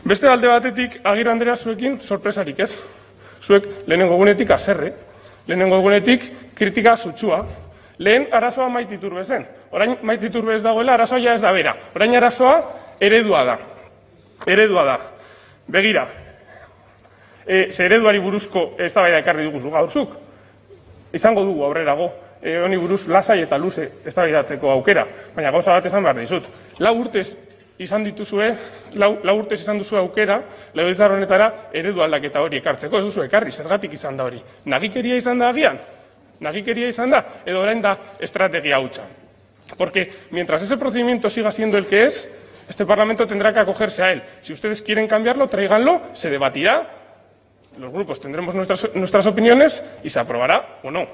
Beste alde batetik, Agirre Andrea, zuekin sorpresarik ez. Zuek lehenengo egunetik haserre, lehenengo egunetik kritika sutsua. Lehen arazoa Maite Iturbe zen. Orain Maite Iturbe ez dagoela, arazoa ez da bera. Orain arazoa eredua da. Eredua da. Begira, ze ereduari buruzko eztabaida ekarri dugu gaurzuk. Izango dugu aurrerago, honi buruz lasai eta luze eztabaidatzeko aukera. Baina gauza bat esan behar dizut. 4 urtez izan dituzue, 4 urtez izan duzu aukera, legebiltzar honetara eredu aldaketa hori ekartzeko, ez duzu ekarri, zergatik izan da hori. Nagikeria izan da agian? Nagikeria izan da? Edo orain da estrategia hutsa. Porque mientras ese procedimiento siga siendo el que es, este Parlamento tendrá que acogerse a él. Si ustedes quieren cambiarlo, tráiganlo, se debatirá, los grupos tendremos nuestras opiniones y se aprobará o no.